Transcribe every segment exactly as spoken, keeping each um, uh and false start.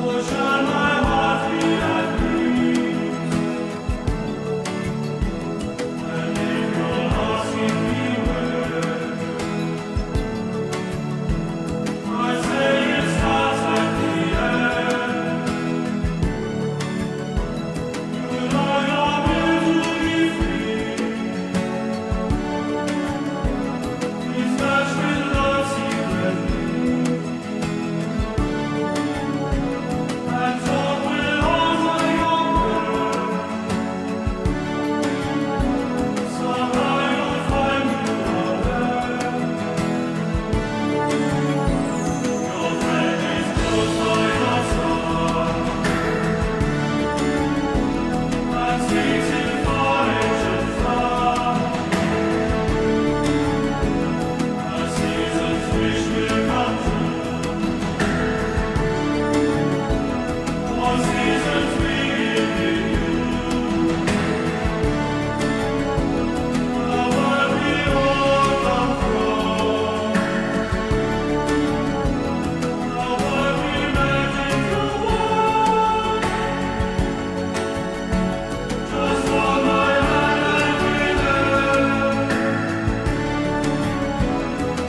Shall my heart be at peace? And if you're asking me where, I say it starts at the end. You know your will to be free. It's touched with love secretly. And talk will alter your prayer. Somehow you'll find you are there. Your friend is close by your side and speaks in far ancient tongue. A season's wish will come true. All seasons begin with you. The world we all come from. The world we imagine to want. Just hold my hand and we're there.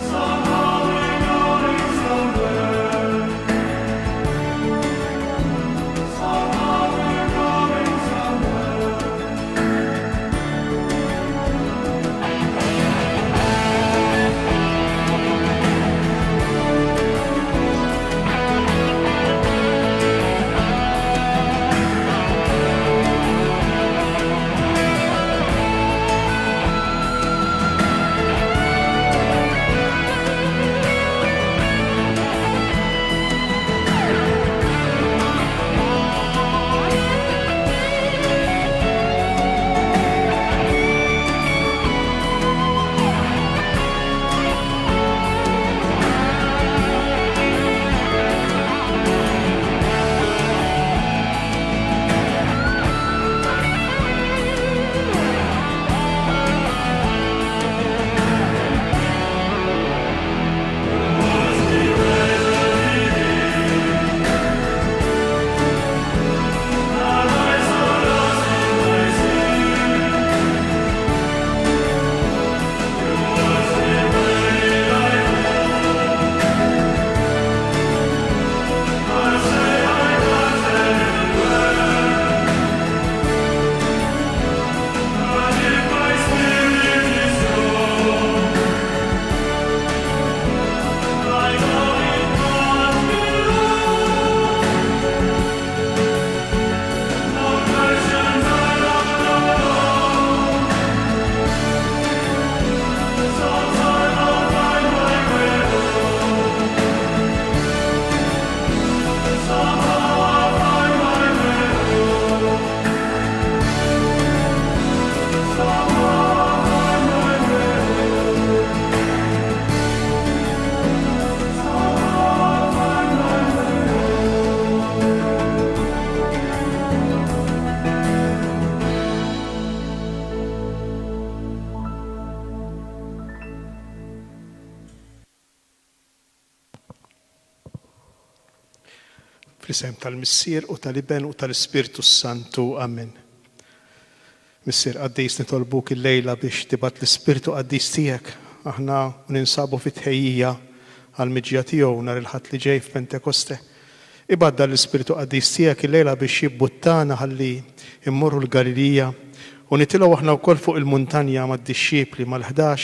Somehow we're going somewhere. Somehow we're going somewhere. I know it can't be long. No questions I love no long. Sometime I'll find my way home. Somehow I'll find my way home. Somehow I'll find my way home. Somehow I'll find my way home. Fl-isem tal-Missier u tal-Iben u tal-Ispirtu Santu. Amen. Missier Qaddis, nitolbuk il-lejla biex tibgħat l-Ispirtu Qaddis tiegħek. Aħna ninsabu fit-tħejjija għal-miġja tiegħu nhar il-Ħadd li ġej f'Pentekoste. Ibgħat l-Ispirtu Qaddis tiegħek il-lejla biex jibbuttana ħalli immorru l-Galilija u nitilgħu aħna wkoll fuq il-muntanja mad-dixxipli mal-ħdax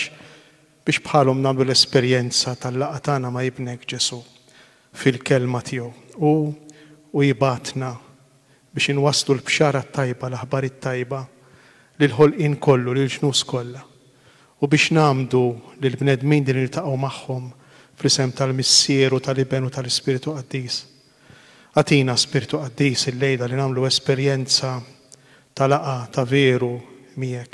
biex bħalhom nagħmlu l-esperjenza tal-laqgħa tagħna ma' ibnek Ġesu fil-kelma tiegħu. U u jibgħatna biex inwasslu l-bxara tajba, l-aħbar it-tajba lil-ħolqien kollu, lil-ġnus kollha. U biex ngħammdu lil-bnedmin din niltaqgħu magħhom fl-isem tal-Missier u tal-Iben u tal-Ispirtu Qaddis. Agħtina Spirtu Qaddis il-lejla li nagħmlu esperjenza ta' laqgħa ta' veru miegħek.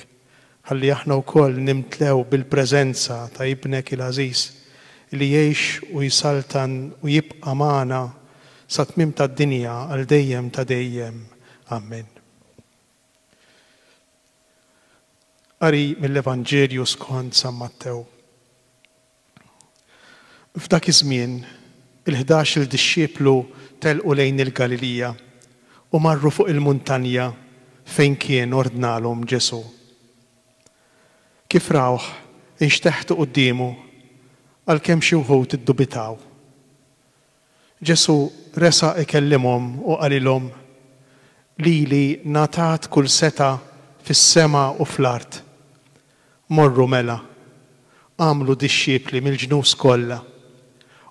Ħalli aħna wkoll nimtlew bil-preżenza ta' ibnek il-għażiż li jgħix u jsaltan u jibqa' magħna sa tmiem tad-dinja għal dejjem ta' dejjem. Amen. Qari mill-Evanġelju skont San Mattew. F'dak iż-żmien Il-ħdax-il dixxiplu telqu lejn il-Galilija u marru fuq il-muntanja fejn kien ordnalhom Ġesù. Kif rawh, inxteħtu quddiemu, għalkemm xi wħud iddubitaw. Ġesù resaq ikellimhom u qalilhom, Lili ngħatat kull setgħa fis-sema u fl-art. Morru mela, agħmlu dixxipli mill-ġnus kollha,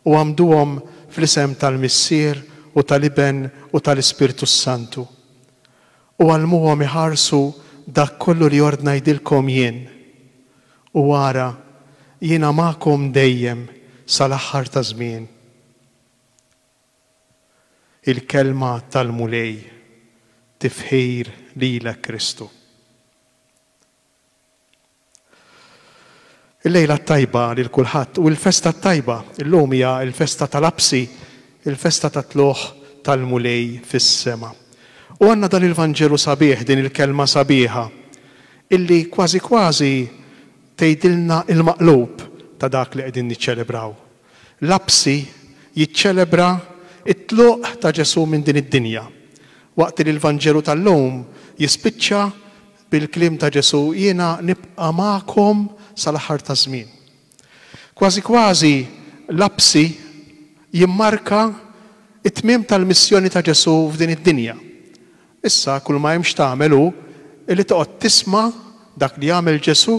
u għammduhom fl-isem tal-Missier u tal-Iben u tal-Ispirtu s-Santu, u għallmuhom iħarsu dak kollu li ordnajdilkom jien. U ara, jiena magħkom dejjem sal-aħħar taż-żmien. Il-Kelma tal-Mulej, tifħir lilek Kristu. Il-lejla t-tajba lil kulħadd u l-festa t-tajba. Illum hija l-festa tal-Apsi, il-festa tat-tlugħ tal-Mulej fis-sema. U għandna dan il-Vanġelu sabiħ, din il-kelma sabiħa, illi kważi kważi tgħidilna il-maqlub ta' dak li qegħdin niċċelebraw. L-Apsi jiċċelebra t-tluq ta' Ġesù minn din id-dinja, waqt li l-Vanġelu tal-lum jispiċċa bil-kliem ta' Ġesù, Jiena nibqa' magħkom sal-aħħar taż-żmien. Kważi kważi l-Apsi jimmarka t-tmiem tal-missjoni ta' Ġesù f'din id-dinja. Issa kull ma hemm x'tagħmel hu li toqgħod tisma' dak li għamel Ġesù,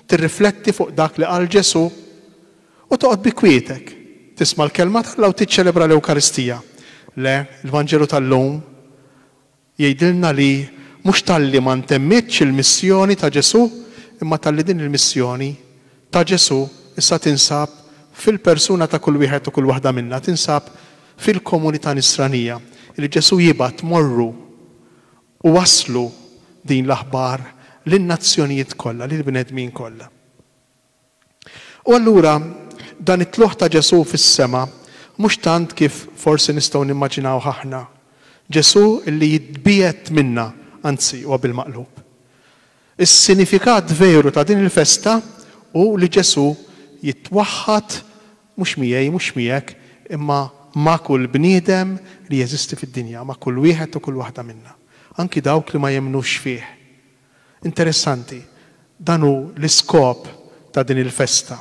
tirrifletti fuq dak li qal Ġesù u toqgħod bi kwietek, tisma' l-Kelma t'Alla u tiċċelebra l-Ewkaristija. Le, il-Vanġelu tal-lum jgħidilna li mhux talli ma ntemmitx il-missjoni ta' Ġesù, imma talli din il-missjoni ta' Ġesù issa tinsab fil-persuna ta' kull wieħed u kull waħda minna, tinsab fil-komunità nisranija li Ġesù jibgħat morru u wasslu din l-aħbar lin-nazzjonijiet kollha, lill-bnedmin kollha. U allura dan it-tlugħ ta' Ġesù fis-sema mhux tant kif forsi nistgħu nimmaġinawh aħna, Ġesù li jitbiegħed minna, anzi huwa bil-maqlub. Is-sinifikat veru ta' din il-festa hu li Ġesù jitwaħħad mhux miegħi, mhux miegħek, imma ma' kull bniedem li jeżisti fid-dinja, ma' kull wieħed u kull waħda minna, anki dawk li ma jemmnux fih. Interessanti, dan hu l-iskop ta' din il-festa.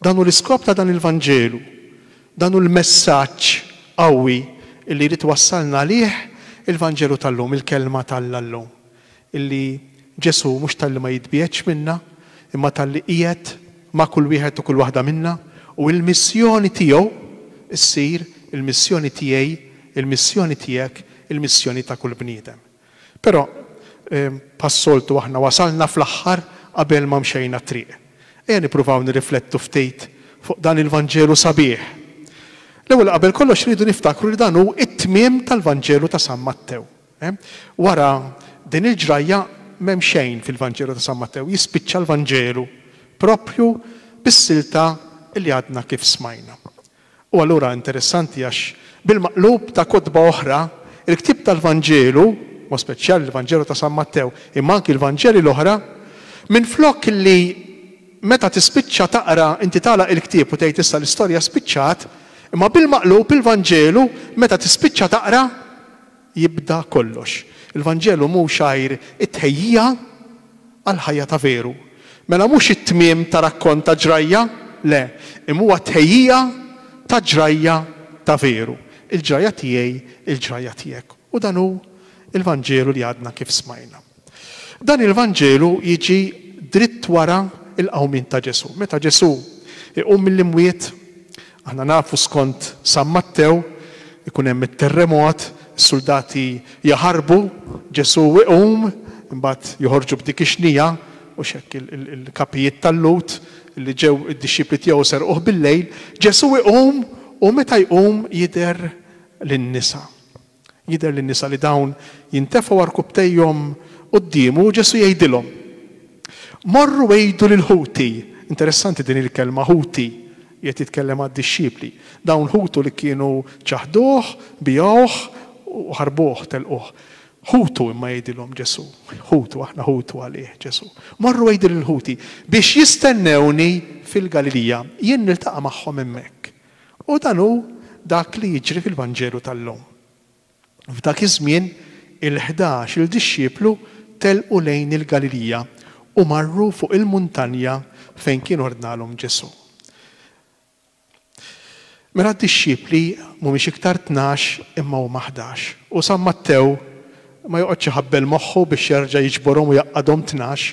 Dan hu l-iskop ta' dan il-Vanġelu. Dan hu l-messaġġ qawwi li jrid iwassalna għalih il-Vanġelu tal-lum, il-Kelma t'Alla llum. Illi Ġesù mhux talli ma jitbiegħedx minna, imma talli qiegħed ma' kull wieħed u kull waħda minna, u l-missjoni tiegħu ssir il-missjoni tiegħi, il-missjoni tiegħek, il-missjoni ta' kull bniedem. Però, bħas-soltu aħna wasalna fl-aħħar qabel ma mxejna t-triq. Ejja nippruvaw nirriflettu ftit fuq dan il-Vanġelu sabiħ. L-ewwel qabel kollox rridu niftakru li dan hu t-tmiem tal-Vanġelu ta' San Mattew. Wara din il-ġrajja m'hemm xejn fil-Vanġelu ta' San Mattew, jispiċċa l-Vanġelu proprju bis-silta li għadna kif smajna. U allura interessanti għax bil-maqlub ta' kotba oħra, il-ktieb tal-Vanġelu, mod speċjali l-Vanġelu ta' San Mattew, imma anki l-Vanġeli l-oħra, minflok li meta tispiċċa taqra inti tagħlaq il-ktieb u tgħid issa l-istorja spiċċat, imma bil-maqlub il-Vanġelu meta tispiċċa taqra jibda kollox. Il-Vanġelu mhux għajr it-tħejjija għall-ħajja ta' veru. Mela mhux it-tmiem ta' rakkont ta' ġrajja, le, imma huwa tħejjija ta' ġrajja ta' veru. Il-ġrajja tiegħi, il-ġrajja tiegħek. U dan hu il-Vanġelu li għadna kif smajna. Dan il-Vanġelu jiġi dritt wara il-qawmien ta' Ġesù. Meta Ġesù iqum mill-imwiet, aħna nafu skont San Mattew, ikun hemm it-terremot, is-suldati jaħarbu, Ġesù iqum, imbagħad joħorġu b'dik ix-xnija, u x'hekk il-kapijiet tal-Lhud li ġew id-dixxipli tiegħu serquh bil-lejl, Ġesù iqum u meta jqum jidher lin-nisa. Jidher lin-nisa li dawn jintefgħu għarkupptejhom quddiemu u Ġesù jgħidilhom, Morru għidu lil ħuti. Interessanti din il-kelma ħuti, qiegħed jitkellem għad-dixxipli. Dawn ħutu li kienu ċaħduh, biegħuh u ħarbuh, telquh. Ħutu imma jgħidilhom Ġesù, ħutu, aħna ħutu għalih Ġesù. Morru għidu lil ħuti biex jistennewni fil-Galilija, jien niltaqa' magħhom hemmhekk. U dan hu dak li jiġri fil-Vanġelu tal-lum. F'dak iż-żmien il-ħdax il-dixxiplu telqu lejn il-Galilija u marru fuq il-muntanja fejn kien ordnalhom Ġesù. Mela d-dixxipli mhumiex iktar tnax imma huma ħdax. U San Mattew ma joqgħodx iħabbel moħħu biex jerġa' jiġborhom u jgħaqqadhom tnax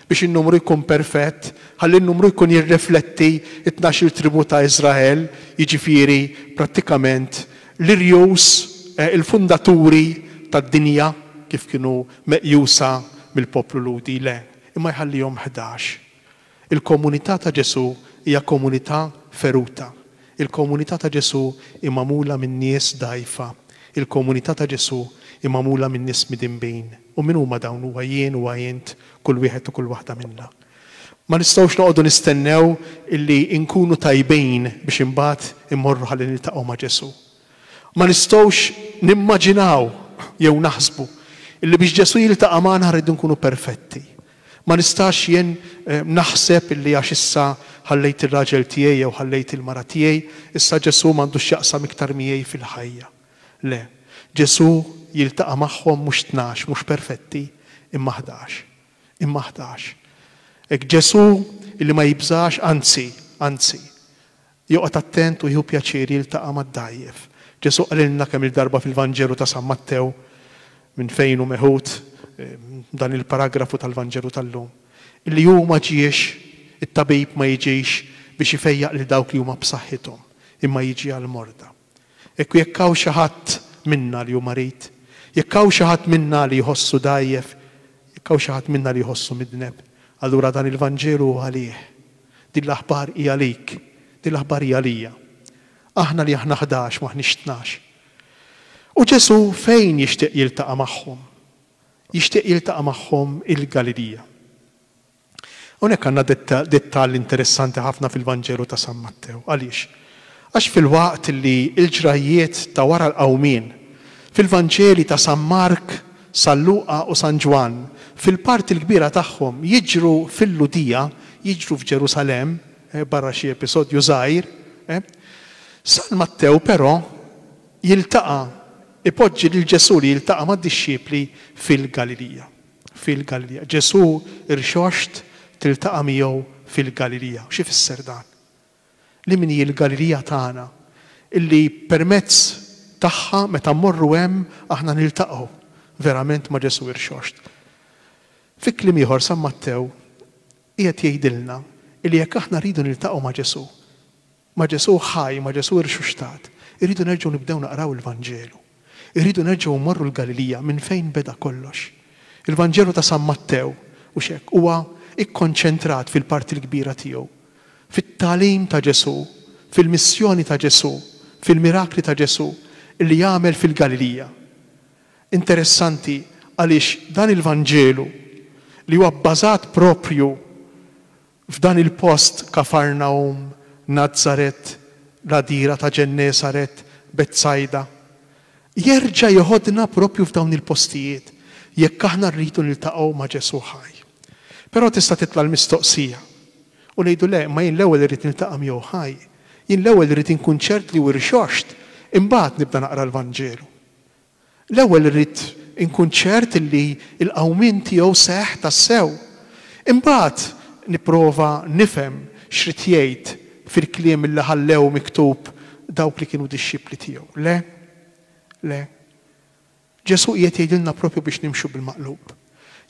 biex in-numru jkun perfett, ħalli n-numru jkun jirrifletti t-tnax il tribu ta' Iżrael, jiġifieri prattikament l-irjus, il-fundaturi tad-dinja kif kienu meqjusa mill-poplu Lhudi, le, imma jħallihom ħdax. Il-komunità ta' Ġesù hija komunità feruta. Il-komunità ta' Ġesù hi magħmula minn nies dgħajfa. Il-komunità ta' Ġesù hi magħmula minn nies midinbin. U min huma dawn? Huwa jien, huwa int, kull wieħed u kull waħda minna. Ma nistgħux noqogħdu nistennew illi nkunu tajbin biex imbagħad immorru ħalli niltaqgħu ma' Ġesù. Ma nistgħux nimmaġinaw jew naħsbu illi biex Ġesù jiltaqa' magħna rridu nkunu perfetti. Ma nistax jien naħseb illi għax issa ħallejt ir-raġel tiegħi jew ħallejt il-mara tiegħi, issa Ġesù m'għandux x'jaqsam iktar miegħi fil-ħajja. Le. Ġesù jiltaqa' magħhom mhux tnax, mhux perfetti, imma ħdax. Imma ħdax. Hekk Ġesù illi ma jibżax, anzi, anzi, joqgħod attent u jieħu pjaċir jiltaqa' mad-dgħajjef. Ġesù qalilna kemm-il darba fil-Vanġelu ta' San Mattew, minn fejn hu meħud dan il-paragrafu tal-Vanġelu tal-lum, illi hu ma ġiex, it-tabib ma jiġix biex ifejjaq lil dawk li huma b'saħħithom, imma jiġi għall-morda. Hekk jekk hawn xi ħadd minna li hu marid, jekk hawn xi ħadd minna li jħossu dgħajjef, jekk hawn xi ħadd minna li jħossu midneb, allura dan il-Vanġelu hu għalih. Din l-aħbar hi għalik, din l-aħbar hi għalija. Aħna li aħna ħdax m'aħniex tnax. U Ġesù fejn jixtieq jiltaqa' magħhom? Jixtieq jiltaqa' magħhom il-Galilija. Hawnhekk għandna dettall interessanti ħafna fil-Vanġelu ta' San Mattew. Għaliex? Għax filwaqt li l-ġrajjiet ta' wara l-qawmien fil-Vanġeli ta' San Mark, San Luqa u San Ġwann fil-parti l-kbira tagħhom jiġru fil-Lhudija, jiġru f'Ġerusalemm, barra xi episodju żgħir, San Mattew però jiltaqa' ipoġġi lil Ġesù li jiltaqa' mad-dixxipli fil-Galilija. Fil-Galilija. Ġesù rxoxt tiltaqa' miegħu fil-Galilija. X'ifisser dan? Li min hi l-Galilija tagħna, illi permezz tagħha meta mmorru hemm aħna niltaqgħu verament ma' Ġesù rxoxt. Fi kliem ieħor San Mattew qiegħed jgħidilna illi jekk aħna rridu niltaqgħu ma' Ġesù, ma' Ġesù ħaj, ma' Ġesù rxuxtat, irridu nerġgħu nibdew naqraw il-Vanġelu. Irridu nerġgħu mmorru l-Galilija minn fejn beda kollox. Il-Vanġelu ta' San Mattew u xek huwa ikkonċentrat fil-parti l-kbira tiegħu, fit-tagħlim ta' Ġesù, fil-missjoni ta' Ġesù, fil-mirakli ta' Ġesù illi jagħmel fil-Galilija. Interessanti għaliex dan il-Vanġelu li huwa bbażat propju f'dan il-post Kafarnaum, Nazaret, l-għadira ta' Ġennesaret, Betsajda, jerġa' jeħodna propju f'dawn il-postijiet jekk aħna rridu niltaqgħu ma' Ġesù ħaj. Però tista' titla' l-mistoqsija u ngħidu le, ma jien l-ewwel irrid niltaqa' miegħu ħaj, jien l-ewwel irrid inkun ċert li hu rxoxt, imbagħad nibda naqra l-Vanġelu. L-ewwel irrid inkun ċert li l-qawmien tiegħu seħħ tassew. Imbagħad nipprova nifhem x'rid jgħid fil-kliem li ħallew miktub dawk li kienu dixxipli tiegħu. Le, le. Ġesù qiegħed jgħidilna propju biex nimxu bil-maqlub.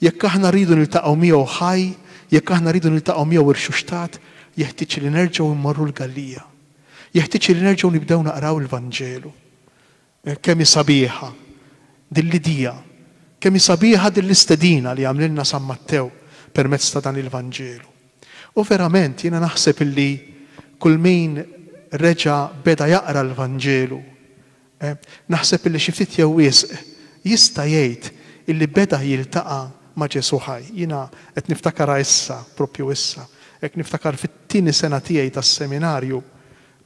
Jekk aħna rridu niltaqgħu miegħu ħaj, jekk aħna rridu niltaqgħu miegħu irxuxtat, jeħtieġ li nerġgħu mmorru l-Galilija. Jeħtieġ li nerġgħu nibdew naqraw il-Vanġelu. Kemm hi sabiħa din l-idea, kemm hi sabiħa din l-istedina li għamlilna San Mattew permezz ta' dan il-Vanġelu. U verament jiena naħseb illi kull min reġa' beda jaqra l-Vanġelu, naħseb illi xi ftit jew wisq jista' jgħid illi beda jiltaqa' ma' Ġesù ħaj. Jiena qed niftakarha issa, propju issa, hekk niftakar fit-tieni sena tiegħi tas-seminarju,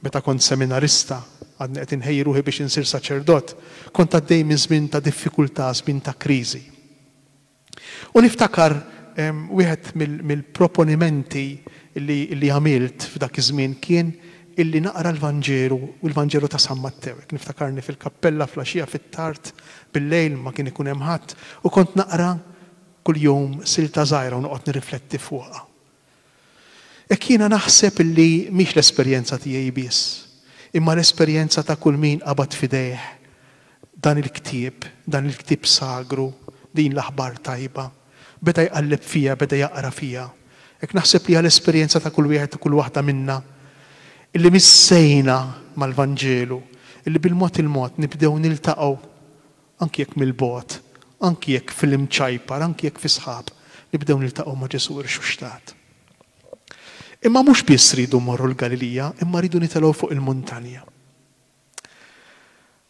meta kont seminarista, għadni qed inħejji ruħi biex insir saċerdot, kont għaddej minn żmien ta' diffikultà, żmien ta' kriżi. U niftakar wieħed mill-proponimenti li għamilt f'dak iż-żmien kien illi naqra l-Vanġelu u l-Vanġelu ta' San Mattew. Niftakarni fil-kappella filgħaxija fit-tard bil-lejl, ma kien ikun hemm ħadd, u kont naqra kuljum silta żgħira u noqgħod nirrifletti fuqha. Hekk jiena naħseb illi mhix l-esperjenza tiegħi biss, imma l-esperjenza ta' kull min qabad f'idejh dan il-ktieb, dan il-ktieb sagru, din l-aħbar tajba. Beda jqalleb fija, beda jaqra fija. Hekk naħseb li l-esperjenza ta' kull wieħed u kull waħda minna illi missejna mal-Vanġelu, illi bil-mod il-mod nibdew niltaqgħu, anki jekk mill-bogħod, anki jekk fil-imċajpar, anki jekk fi sħab, nibdew niltaqgħu ma' Ġesù irxuxtat. Imma mhux biss ridu mmorru l-Galilija, imma rridu nitelgħu fuq il-muntanja.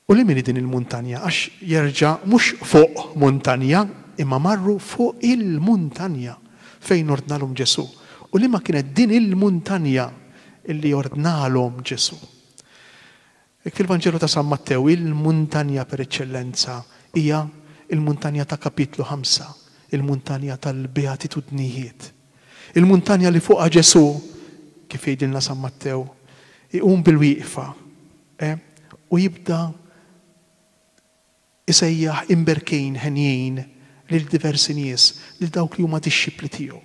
U li min din il-muntanja? Għax jerġa' mhux fuq muntanja, imma marru fuq il-muntanja fejn ordnalhom Ġesù. U li ma kienet din il-muntanja illi ordnalhom Ġesù? Hekk fil-Vanġelu ta' San Mattew, il-muntanja per eċċellenza hija il-muntanja ta' kapitlu ħamsa, il-muntanja tal-beatitudnijiet. Il-muntanja li fuqha Ġesù, kif jgħidilna San Mattew, iqum bil-wieqfa eh, u jibda isejjaħ imberkin, henjin lil diversi nies, lil dawk li huma dixxipli tiegħu.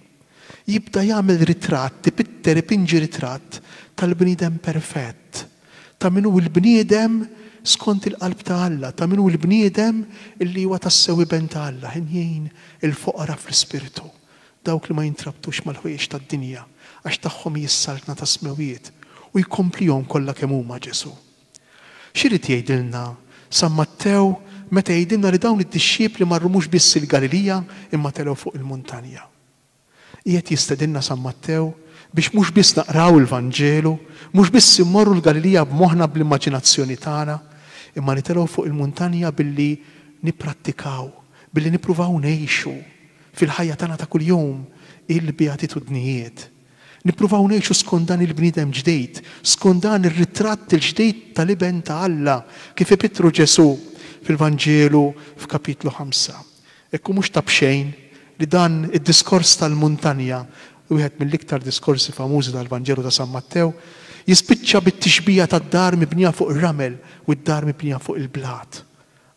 Jibda jagħmel ritratt, ipitter, ipinġi ritratt tal-bniedem perfett, ta' min hu l-bniedem skont il-qalb ta' Alla, ta' min hu l-bniedem illi huwa tassew iben ta' Alla, henjin il-foqra fl-ispirtu, dawk li ma jintrabtux mal-ħwejjeġ tad-dinja, għax tagħhom hi s-saltna tas-smewwiet, u jkomplihom kollha kemm huma Ġesù. X'irid jgħidilna San Mattew meta jgħidilna li dawn id-dixxipli marru mhux biss il-Galilija imma telgħu fuq il-muntanja? Qiegħed jistedinna San Mattew biex mhux biss naqraw il-Vanġelu, mhux biss immorru l-Galilija b'moħħna, bl-immaġinazzjoni tagħna, imma nitelgħu fuq il-muntanja billi nipprattikaw, billi nippruvaw ngħixu fil-ħajja tagħna ta' kuljum il-beatitudnijiet. Nippruvaw ngħixu skont dan il-bniedem ġdid, skont dan ir-ritratt il-ġdid tal-iben ta' Alla kif ipittru Ġesù fil-Vanġelu f'kapitlu ħamsa. Ekku mhux ta' b'xejn li dan id-diskors tal-muntanja, wieħed mill-iktar diskorsi famużi tal-Vanġelu ta' San Mattew, jispiċċa bit-tixbija tad-dar mibnija fuq ir-ramel u d-dar mibnija fuq il-blat.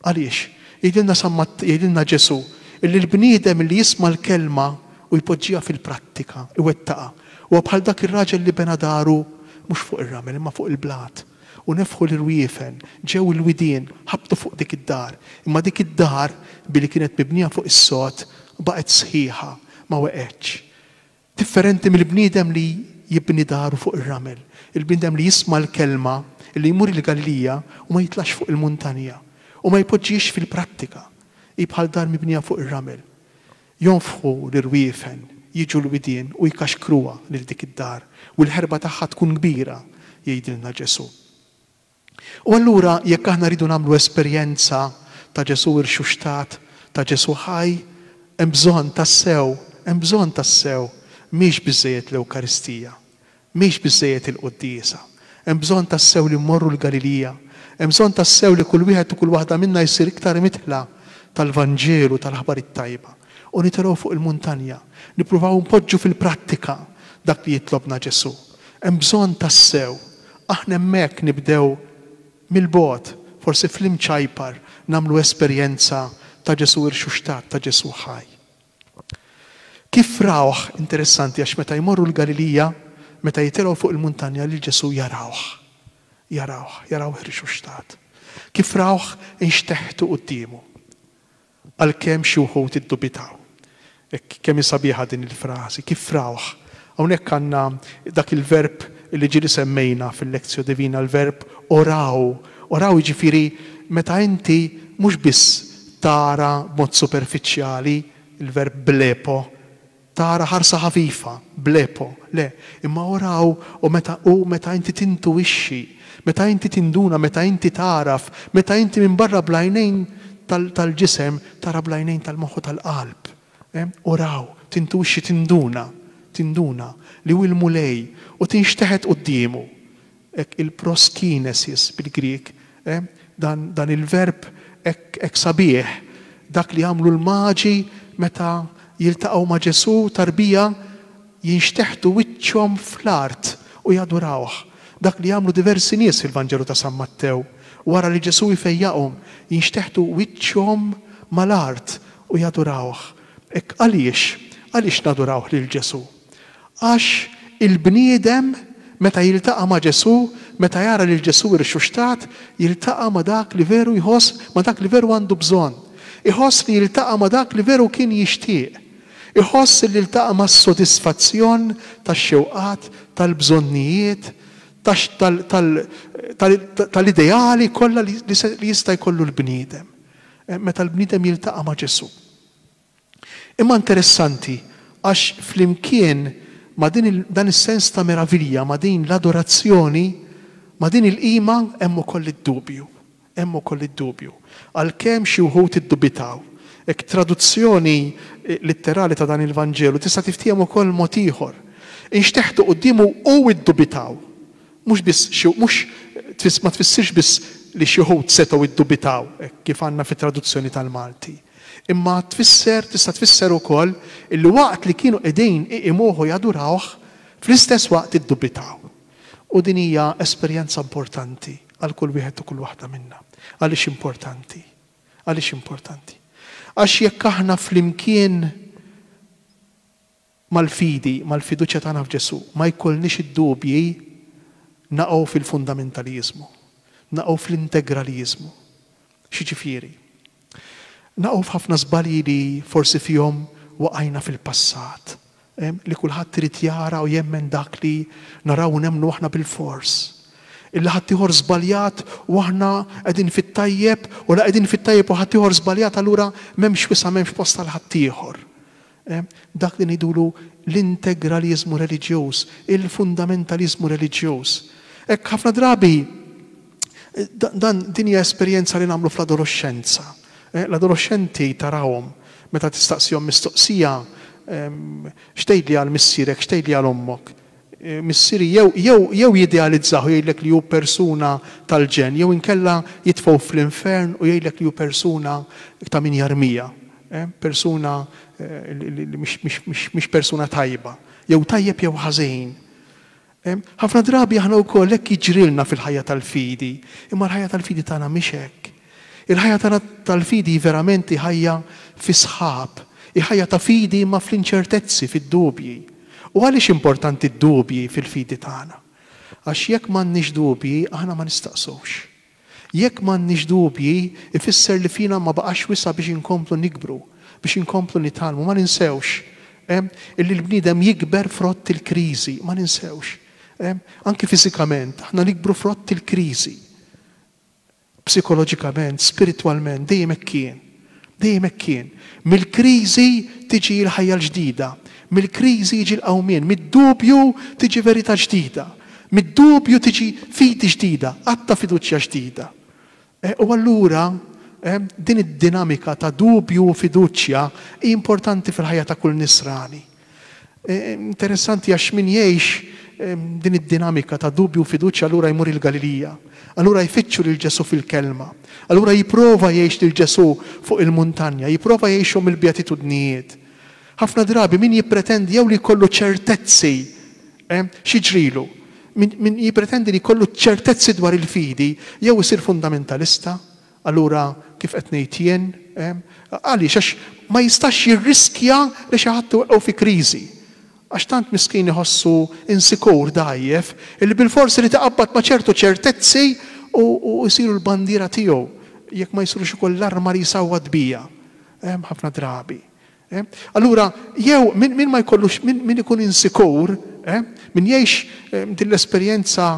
Għaliex? Jgħidilna San Matt-, jgħidilna Ġesù illi l-bniedem li jisma' l-kelma u jpoġġiha fil-prattika, iwettaqha, huwa bħal dak ir-raġel li bena daru mhux fuq ir-ramel imma fuq il-blat. U nefħu l-irwiefen, ġew il-widien, ħabtu fuq dik id-dar. Imma dik id-dar, billi kienet mibnija fuq is-sod, baqgħet sħiħa, ma weqgħetx. Differenti mill-bniedem li jibni daru fuq ir-ramel, il-bniedem li jisma' l-kelma, li jmur il-Galilija u ma jitlax fuq il-muntanja u ma jpoġġix fil-prattika. Hi bħal dar mibnija fuq ir-ramel. Jonfħu l-irwiefen, jiġu l-widien u jkaxkruha lil dik id-dar, u l-ħerba tagħha tkun kbira, jgħidilna Ġesù. U allura jekk aħna rridu nagħmlu esperjenza ta' Ġesù irxuxtat, ta' Ġesù ħaj, hemm bżonn tassew, hemm bżonn tassew, mhix biżżejjed l-Ewkaristija, mhix biżżejjed il-quddiesa. Hemm bżonn tassew li mmorru l-Galilija, hemm bżonn tassew li kull wieħed u kull waħda minna jsir iktar mitħla tal-Vanġelu, tal-aħbar it-tajba. U nitelgħu fuq il-muntanja, nippruvaw npoġġu fil-prattika dak li jitlobna Ġesù. Hemm bżonn tassew, aħna hemmhekk nibdew mill-bogħod, forsi fl-imċajpar, nagħmlu esperjenza ta' Ġesù irxuxtat, ta' Ġesù ħaj. Kif rawh, interessanti, għax meta jmorru l-Galilija, meta jitilgħu fuq il-muntanja lil Ġesù jarawh, jarawh, jarawh irxuxtat. Kif rawh inxteħtu quddiemu, għalkemm xi wħud iddubitaw. Hekk kemm hi sabiħa din il-frażi, kif rawh. Hawnhekk għandna dak il-verb li ġieli semmejna fil-Lectio Divina, l-verb oraw. Oraw jiġifieri meta inti mhux biss tara b'mod superfiċjali, il-verb blepo, tara ħarsa ħafifa, blepo, le, imma oraw u meta, u meta inti tintuwixxi, meta inti tinduna, meta inti taraf, meta inti minn barra bl-għajnejn tal-, tal-ġisem, tara bl-għajnejn tal-moħħu tal-qalb. Eh? Oraw, tintuwixxi, tinduna, tinduna li hu l-Mulej u tinxteħet quddiemu. Hekk il-proskinesis bil-Grieg, eh? dan, dan il-verb hekk, hekk sabiħ, dak li għamlu l-maġi meta jiltaqgħu ma' Ġesù tarbija, jinxteħtu wiċċhom fl-art u jadurawh. Dak li jagħmlu diversi nies fil-Vanġelu ta' San Mattew, wara li Ġesù jfejjaqhom, jinxteħtu wiċċhom mal-art u jadurawh. Hekk għaliex? Għaliex nadurawh lil Ġesù? Għax il-bniedem meta jiltaqa' ma' Ġesù, meta jara lil Ġesù irxuxtat, jiltaqa' ma' dak li veru jħoss, ma' dak li veru għandu bżonn. Iħoss li jiltaqa' ma' dak li veru kien jixtieq. Iħoss li jiltaqa' mas-sodisfazzjon tax-xewqat, tal-bżonnijiet, tal-ideali kollha li jista' jkollu l-bniedem. Meta l-bniedem jiltaqa' ma' Ġesù. Imma interessanti, għax flimkien ma' din dan is-sens ta' meravilja, ma' din l-adorazzjoni, ma' din il-qima hemm ukoll id-dubju. Hemm ukoll id-dubju. Għalkemm xi wħud iddubitaw. Hekk traduzzjoni litterali ta' dan il-Vanġelu tista' tiftiehem ukoll mod ieħor. Inxteħtu quddiemu u iddubitaw. Mhux biss xi mhux ma tfissirx biss li xi wħud setgħu iddubitaw, kif għandna fit-traduzzjoni tal-Malti. Imma tfisser, tista' tfisser ukoll illi waqt li kienu qegħdin iqimuh u jadurawh, fl-istess waqt iddubitaw. U din hija esperjenza importanti għal kull wieħed u kull waħda minna. Għaliex importanti? Għaliex importanti? Għax jekk aħna flimkien mal-fidi, mal-fiduċja tagħna f'Ġesù, ma jkollniex id-dubji, naqgħu fil-fundamentaliżmu, naqgħu fl-integraliżmu. X'jiġifieri? Naqgħu f'ħafna żbalji li forsi fihom waqajna fil-passat, li kulħadd irid jara u jemmen dak li naraw u nemmnu aħna bil-fors. Illi ħaddieħor żbaljat u aħna qegħdin fit-tajjeb, u la qegħdin fit-tajjeb u ħaddieħor żbaljat, allura m'hemmx wisa', m'hemmx post għal ħaddieħor. Dak li ngħidulu l-integraliżmu reliġjuż, il-fundamentaliżmu reliġjuż. Hekk ħafna drabi dan din hija esperjenza li nagħmlu fl-adolescenza. L-adolescenti tarawhom meta tistaqsihom mistoqsija, x'tgħidli għal missierek, x'tgħidli għal ommok. Missieri jew, jew, jew jidealizzaw jgħidlek li hu persuna tal-ġen, jew inkella jitfgħu fl-infern u jgħidlek li hu persuna ta' min jarmija, persuna li mhix persuna tajba, jew tajjeb jew ħażin. Ħafna drabi aħna wkoll hekk jiġrilna fil-ħajja tal-fidi, imma l-ħajja tal-fidi tagħna mhix hekk. Il-ħajja tagħna tal-fidi verament hi ħajja fi sħab, hi ħajja ta' fidi imma fl-inċertezzi, fid-dubji. U għaliex importanti d-dubji fil-fidi tagħna? Għax jekk m'għandniex dubji, aħna ma nistaqsux. Jekk m'għandniex dubji, ifisser li fina ma baqax wisa biex inkomplu nikbru, biex inkomplu nitgħallmu. Ma ninsewx illi l-bniedem jikber frott il-kriżi, ma ninsewx. Anki fiżikament, aħna nikbru frott il-kriżi. Psikoloġikament, spiritwalment, dejjem hekk kien. Dejjem hekk kien. Mill-kriżi tiġi l-ħajja l-ġdida, mill-kriżi jiġi l-qawmien, mid-dubju tiġi verità ġdida, mid-dubju tiġi fidi ġdida, għatta fiduċja ġdida. U allura din id-dinamika ta' dubju u fiduċja hi importanti fil-ħajja ta' kull nisrani. Interessanti għax min jgħix din id-dinamika ta' dubju u fiduċja allura jmur il-Galilija, allura jfittxu lil Ġesù fil-kelma, allura jipprova jgħix lil Ġesù fuq il-muntanja, jipprova jgħixhom il-beatitudnijiet. Ħafna drabi min jippretendi jew li jkollu ċertezzi, x'jiġrilu? Min jippretendi li jkollu ċertezzi dwar il-fidi jew isir fundamentalista, allura kif qed ngħid jien, għaliex għax ma jistax jirriskja li xi ħadd iweqqgħu fi kriżi. Għax tant miskin iħossu insikur dgħajjef illi bil-forsi li taqabbad ma' ċertu ċertezzi u jsiru l-bandiera tiegħu jekk ma jsirux ukoll l-arma li jsawwat bija. Ħafna drabi. Allura jew min ma jkollux, min ikun insikur, min jgħix din l-esperjenza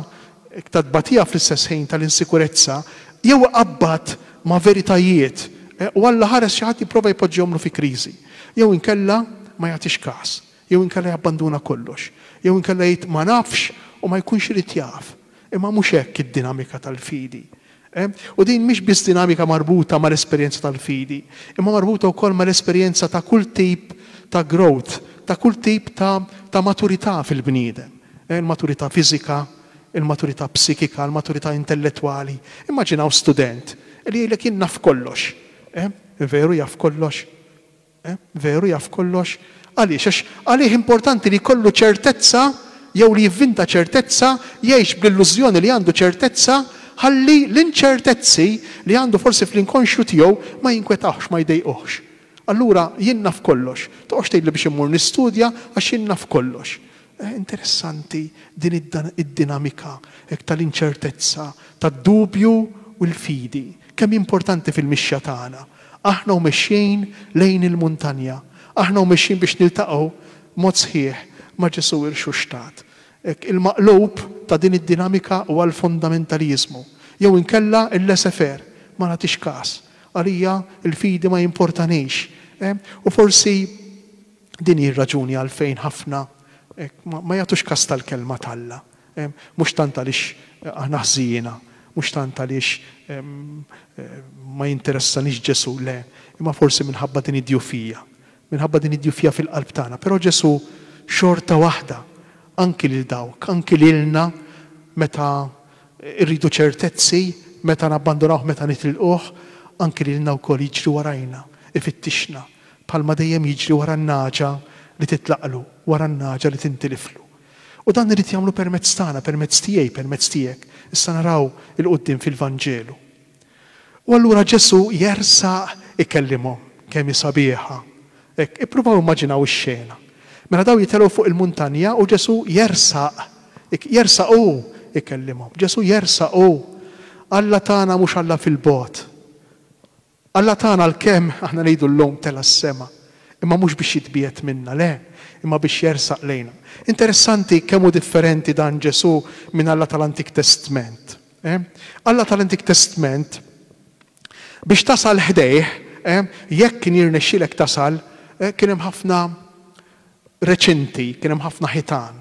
ta' tbatija fl-istess ħin tal-insikurezza, jew iqabbad ma' veritajiet u Alla ħares xi ħadd jipprova jpoġġihomlu fi kriżi, jew inkella ma jagħtix każ, jew inkella jabbanduna kollox, jew inkella jgħid ma nafx u ma jkunx irid jaf. Imma mhux hekk id-dinamika tal-fidi. U din mhix biss dinamika marbuta mal-esperjenza tal-fidi, imma marbuta wkoll mal-esperjenza ta' kull tip ta' growth, ta' kull tip ta', ta' maturità fil-bniedem. Il-maturità fiżika, il-maturità psikika, il-maturità intellettwali. Immaġinaw student li jgħidlek jien naf kollox. Veru jaf kollox? Veru jaf kollox? Għaliex? Għax għalih importanti li jkollu ċertezza jew li jivvinta ċertezza, jgħix bl-illużjoni li għandu ċertezza, ħalli l-inċertezzi li għandu forsi fl-inkonxju tiegħu ma jinkwetawx, ma jdejquhx. Allura jien naf kollox. Toqgħodx tgħidli biex immur nistudja għax jien naf kollox. Interessanti din id-dinamika hekk tal-inċertezza, tad-dubju u l-fidi. Kemm importanti fil-mixja tagħna. Aħna u mexjin lejn il-muntanja. Aħna u mexjin biex niltaqgħu mod sħiħ ma' Ġesù irxuxtat. Il-maqlub ta' din id-dinamika huwa l-fundamentaliżmu. Jew inkella il-laissez-faire, ma nagħtix każ. Għalija il-fidi ma jimportanix. U forsi din hi r-raġuni għalfejn ħafna ma jagħtux każ tal-kelma t'Alla. Mhux tant għaliex aħna ħżiena, mhux tant għaliex ma jinteressanix Ġesù, le, imma forsi minħabba din id-djufija. Minħabba din id-djufija fil-qalb tagħna. Però Ġesù xorta waħda, anki lil dawk, anki lilna meta irridu ċertezzi, meta nabbandonawh, meta nitilquh, anki lilna wkoll jiġri warajna, ifittixna, bħalma dejjem jiġri wara n-naġa li titlaqlu, wara n-naġa li tintiliflu. U dan irid jagħmlu permezz tagħna, permezz tiegħi, permezz tiegħek. Issa naraw il-quddiem fil-Vanġelu. U allura Ġesù jersaq ikellimhom kemm hi sabiħa. Hekk, ippruvaw immaġinaw ix-xena. Mela daw jitelgħu fuq il-muntanja u Ġesù jersaq, jersaq hu ikellimhom. Ġesù jersaq hu. Alla tagħna mhux Alla fil-bogħod. Alla tagħna għalkemm aħna ngħidu llum tela' s-sema, imma mhux biex jitbiegħed minna, le, imma biex jersaq lejna. Interessanti kemm hu differenti dan Ġesù minn Alla tal-Antik Testment. Eh? Alla tal-Antik Testment biex tasal ħdejh, eh, jekk kien jirnexxilek tasal, eh, kien hemm ħafna reċinti, kien hemm ħafna ħitan.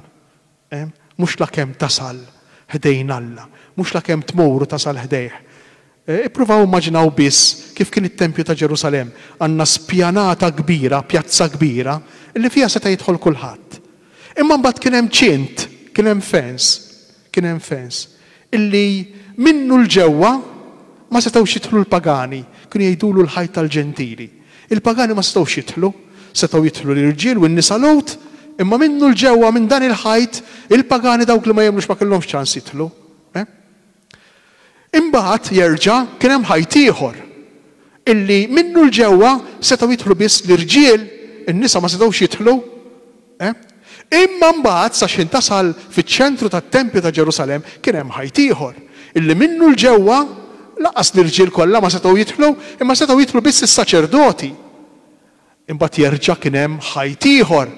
Eh? Mhux la kemm tasal ħdejn Alla, mhux la kemm tmur u tasal ħdejh. Ippruvaw immaġinaw biss kif kien it-tempju ta' Ġerusalemm. Għandna spjanata kbira, pjazza kbira, li fiha seta' jidħol kulħadd. Imma mbagħad kien hemm ċint, kien hemm fence, kien hemm fence, illi minnu l-ġewwa ma setgħux jidħlu l-pagani, kienu jgħidulu l-ħajt tal-ġentili. Il-pagani ma setgħux jidħlu, setgħu jidħlu l-irġiel u n-nisa Lhud, imma minnu l-ġewwa minn dan il-ħajt, il-pagani dawk li ma jemmnux ma kellhomx ċans jidħlu. Imbagħad jerġa' kien hemm ħajt ieħor illi minnu l-ġewwa setgħu jidħlu biss l-irġiel, in-nisa ma setgħux jidħlu. Imma mbagħad sa x'ħin tasal fiċ-ċentru tat-tempju ta' Ġerusalemm kien hemm ħajt ieħor illi minnu l-ġewwa laqas l-irġiel kollha ma setgħu jidħlu, imma setgħu jidħlu biss is-saċerdoti. Imbagħad jerġa' kien hemm ħajt ieħor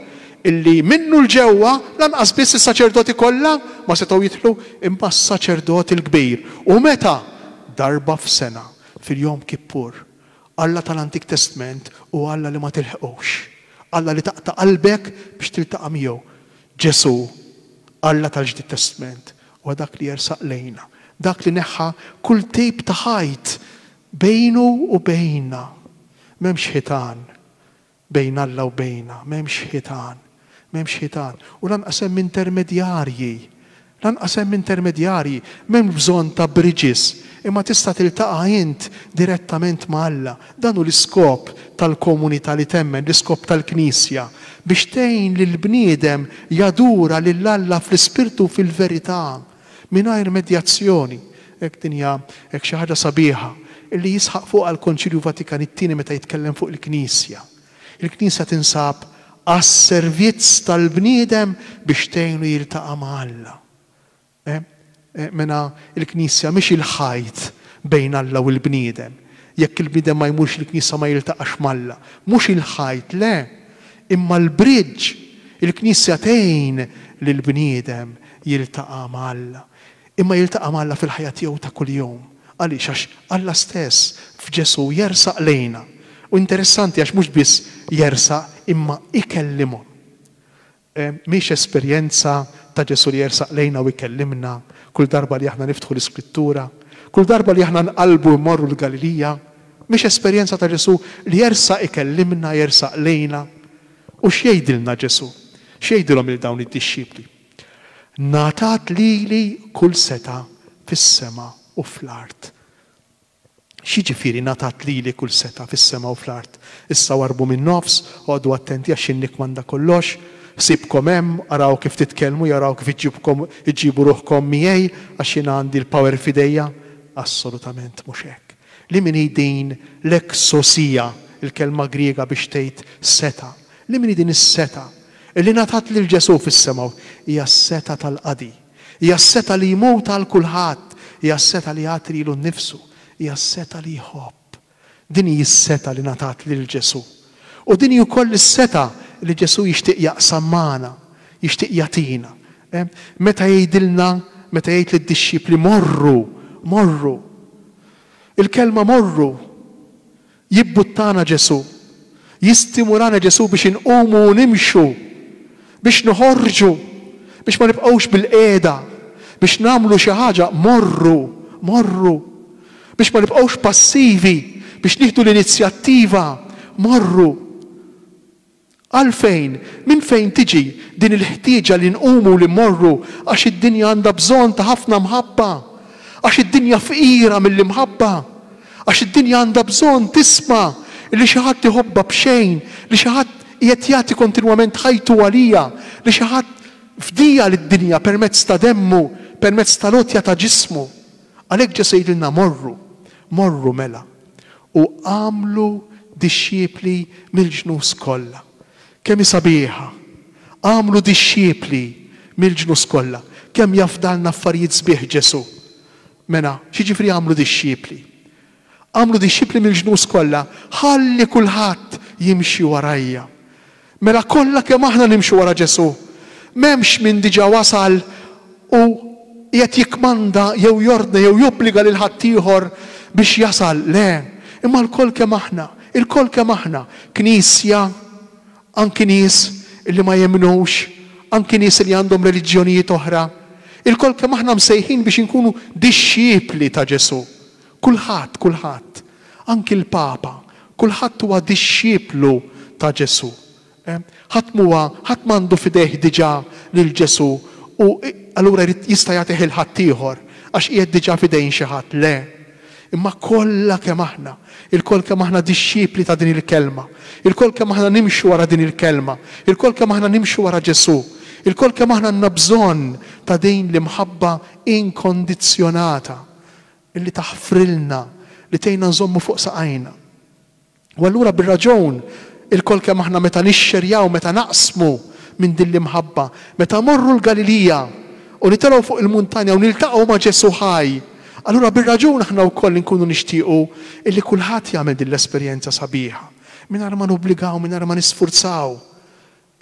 illi minnu l-ġewwa lanqas biss is-saċerdoti kollha ma setgħu jidħlu, imma s-saċerdoti l-kbir. U meta? Darba f'sena, fil-Jom Kippur. Alla tal-Antik Testament u Alla li ma tilħqux. Alla li taqta' qalbek biex tiltaqa' miegħu. Ġesù, Alla tal-Ġdid Testament, huwa dak li jersaq lejna, dak li neħħa kull tip ta' ħajt bejnu u bejna. M'hemmx ħitan bejn Alla u bejna, m'hemmx ħitan, m'hemmx ħitan. U lanqas hemm intermedjarji, lanqas hemm intermedjarji, m'hemm bżonn ta' bridges, imma tista' tiltaqa' int direttament ma' Alla. Dan hu l-iskop tal-komunità li temmen, l-iskop tal-Knisja, biex tgħin lill-bniedem jadura lil Alla fl-ispirtu u fil-verità, mingħajr medjazzjoni. Hekk din hija hekk xi ħaġa sabiħa illi jisħaq fuqha l-Konċilju Vatikan it-Tieni meta jitkellem fuq il-Knisja. Il-Knisja tinsab għas-servizz tal-bniedem biex tgħinu jiltaqa' ma' Alla. Eh? Eh, mela il-Knisja mhix il-ħajt bejn Alla u l-bniedem. Jekk il-bniedem ma jmurx il-Knisja ma jiltaqax m'Alla. Mhux il-ħajt, le, imma l-bridge. Il-Knisja tgħin lill-bniedem jiltaqa' ma' Alla. Imma jiltaqa' ma' Alla fil-ħajja tiegħu ta' kuljum. Għaliex? Għax Alla stess f'Ġesù jersaq lejna. U interessanti għax mhux biss jersaq imma ikellimhom. Mhix esperjenza ta' Ġesù li jersaq lejna u jkellimna kull darba li aħna niftħu l-Iskrittura, kull darba li aħna nqallbu mmorru l-Galilija. Mhix esperjenza ta' Ġesù li jersaq ikellimna, jersaq lejna. U x'jgħidilna Ġesù? X'jgħidilhom lil dawn id-dixxipli? Ngħatat lili kull setgħa fis-sema u fl-art. X'jiġifieri ngħatat lili kull setgħa fis-sema u fl-art? Issa warbu min-nofs, oqogħdu attenti għax jien nikkmanda kollox. Sibkom hemm, araw kif titkellmu, jaraw kif iġġibkom iġġibu ruħkom miegħi għax jiena għandi l-power f'idejja. Assolutament mhux hekk. Li min hi din l-exousia, il-kelma Griega biex tgħid seta. Li min hi din is-seta li ngħatat lil Ġesù fis-sema hija s-seta tal-qadi. Hija s-seta li jmut għal kulħadd, hija s-seta li jagħti lilu nnifsu, hija s-seta li jħobb. Din hi s-seta li ngħatat lil Ġesù. U din hi wkoll is-seta li Ġesù jixtieq jaqsam magħna, jixtieq jagħtina. Meta jgħidilna, meta jgħid lid-dixxipli morru, morru. Il-kelma morru jibbuttana Ġesù, jistimulana Ġesù biex inqumu u nimxu, biex noħorġu, biex ma nibqgħux bil-qiegħda, biex nagħmlu xi ħaġa, morru, morru. Biex ma nibqgħux passivi, biex nieħdu l-inizjattiva, morru. Għalfejn? Minn fejn tiġi din il-ħtieġa li nqumu li mmorru? Għax id-dinja għandha bżonn ta' ħafna mħabba. Għax id-dinja fqira mill-imħabba. Għax id-dinja għandha bżonn tisma' li xi ħadd iħobbha b'xejn, li xi ħadd qiegħed jagħti kontinwament ħajtu għalija, li xi ħadd fdija lid-dinja permezz ta' demmu, permezz tal-għotja ta' ġismu. Għalhekk Ġesù jgħidilna morru, morru mela u agħmlu dixxipli mill-ġnus kollha. Kemm hi sabiħa! Agħmlu dixxipli mill-ġnus kollha. Kemm jafdalna affarijiet sbieħ Ġesù. Mela, x'jiġifieri agħmlu dixxipli? Agħmlu dixxipli mill-ġnus kollha, ħalli kulħadd jimxi warajja. Mela kollha kemm aħna nimxu wara Ġesù. M'hemmx min diġà wasal u qiegħed jikkmanda jew jordna jew jobbliga lil ħaddieħor biex jasal. Le, imma lkoll kemm aħna, ilkoll kemm aħna, knisja, anki nies li ma jemmnux, anki nies li għandhom reliġjonijiet oħra, ilkoll kemm aħna msejħin biex inkunu dixxipli ta' Ġesù. Kulħadd, kulħadd, anki l-Papa, kulħadd huwa dixxiplu ta' Ġesù. Ħadd m'huwa, ħadd m'għandu f'idejh diġà lil Ġesù u allura jrid jista' jagħtih il ħaddieħor għax qiegħed diġà f'idejn xi ħadd. Le. Imma kollha kemm aħna, ilkoll kemm aħna dixxipli ta' din il-kelma, ilkoll kemm aħna nimxu wara din il-kelma, ilkoll kemm aħna nimxu wara Ġesù, ilkoll kemm aħna għandna bżonn ta' din l-imħabba inkondizzjonata illi taħfrilna, li tgħinna nżommu fuq saqajna. U allura bir-raġun ilkoll kemm aħna meta nixxerjaw, meta naqsmu minn din l-imħabba, meta morru l-Galilija u nitilgħu fuq il-muntanja u niltaqgħu ma' Ġesù ħaj, allura bir-raġun aħna wkoll inkunu nixtiequ illi kulħadd jagħmel din l-esperjenza sabiħa. Mingħajr ma nobbligaw, mingħajr ma nisfurzaw.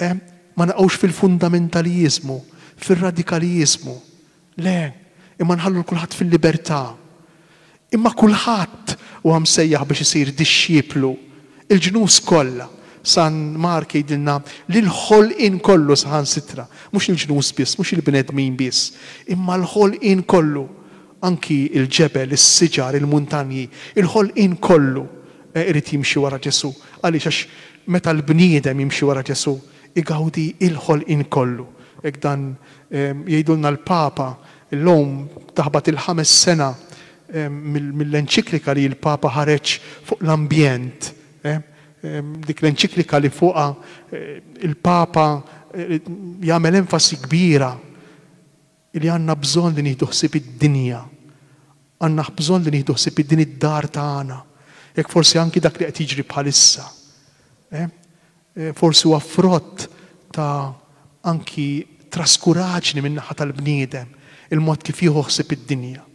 Eh? Ma naqgħux fil-fundamentaliżmu, fir-radikaliżmu. Le, imma nħallu kulħadd fil-libertà. Imma kulħadd huwa msejjaħ biex isir dixxiplu. Il-ġnus kollha. San Mark jgħidilna li l-ħolqien kollu saħansitra, mhux il-ġnus biss, mhux il-bnedmin biss, imma l-ħolqien kollu, anki il-ġebel, is-siġar, il-muntanji, il-ħolqien kollu irid jimxi wara Ġesù. Għaliex? Għax meta l-bniedem jimxi wara Ġesù, igawdi il-ħolqien kollu. Hekk dan jgħidulna l-Papa illum taħbat il-ħames sena mill-enċiklika li l-Papa ħareġ fuq l-ambjent. Dik l-enċiklika li fuqha il-Papa jagħmel enfasi kbira li għandna bżonn li nieħdu ħsieb id-dinja. Għandna bżonn li nieħdu ħsieb din id-dar tagħna. Jekk forsi anki dak li qed jiġri bħalissa. Forsi huwa frott ta' anki traskuraġni min-naħa tal-bniedem, il-mod kif jieħu ħsieb id-dinja.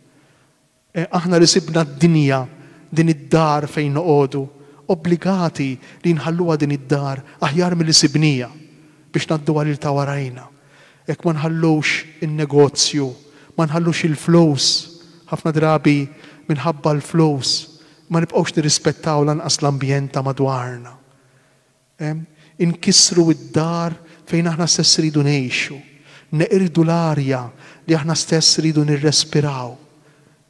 Aħna li sibna d-dinja, din id-dar fejn noqogħdu, obbligati li nħalluha din id-dar aħjar milli sibnija biex ngħadduha lil ta' warajna. Jekk ma nħallux in-negozju, ma nħallux il-flus, ħafna drabi minħabba l-flus, ma nibqgħux nirrispettaw lanqas l-ambjent ta' madwarna. Inkissru id-dar fejn aħna stess ridu ngħixu, neqirdu l-arja li aħna stess ridu nirrespiraw,